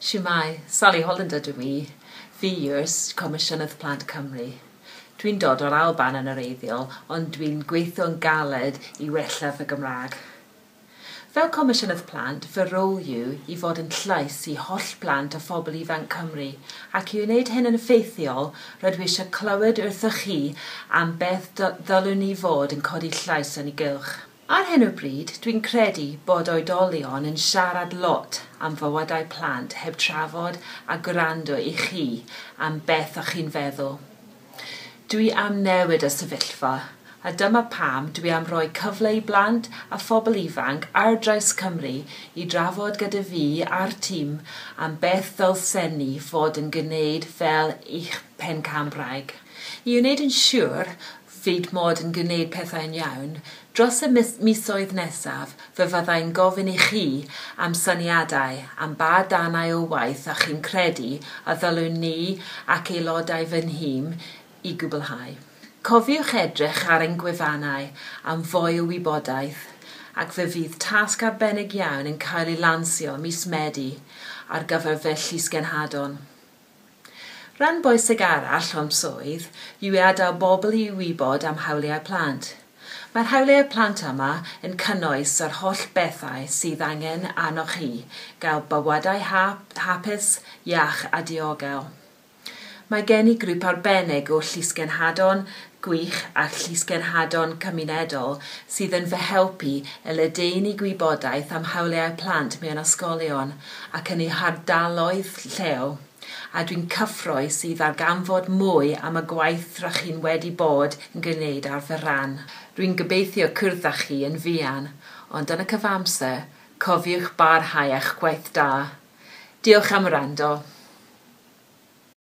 Shwmae, Sally Holland ydw i. Fi yw'r Comisiynydd Plant Cymru. Dwi'n dod o'r Alban yn wreiddiol, ond dwi'n gweithio'n galed i wella fy Gymraeg. Fel Comisiynydd Plant, fy rôl yw i fod yn llais i holl blant a phobl ifanc Cymru, ac i wneud hyn yn effeithiol, rydw i eisiau clywed wrthoch chi am beth ddylwn ni fod yn codi llais yn ei gylch. Ar hyn o bryd, dwi'n credu bod oedolion yn siarad lot am fywydau plant heb trafod a gwrando i chi am beth ych chi'n feddwl. Dwi am newid y sefyllfa, a dyma pam dwi am roi cyfle i blant a phobl ifanc ar draws Cymru i drafod gyda fi a'r tîm am beth ddylsen ni fod yn gwneud fel eich pencampwraig. I wneud yn siŵr fyd mod yn gwneud pethau'n iawn, dros y misoedd nesaf fe fyddai'n gofyn i chi am syniadau am ba darnau o waith a chi'n credu a ddylwn ni ac aelodau fy nhîm i gwblhau. Cofiwch edrych ar ein gwefannau am fwy o wybodaeth, ac fe fydd tasg arbennig iawn yn cael ei lansio mis Medi ar gyfer fy llysgenhadon. Rhan bwysig arall o'm swydd yw i adael bobl i wybod am hawliau plant. Mae'r hawliau plant yma yn cynnwys yr holl bethau sydd angen arnoch chi gael bywydau hapus, iach a diogel. Mae gen i grŵp arbennig o llysgenhadon gwych a llysgenhadon cymunedol sydd yn fy helpu i ledaenu gwybodaeth am hawliau plant mewn ysgolion ac yn eu hardaloedd lleol, a dwi'n cyffrous i ddarganfod mwy am y gwaith rydych chi'n wedi bod yn gwneud ar fy rhan. Rwy'n gobeithio cwrdd â chi yn fuan, ond yn y cyfamser, cofiwch barhau â'ch gwaith da. Diolch am wrando.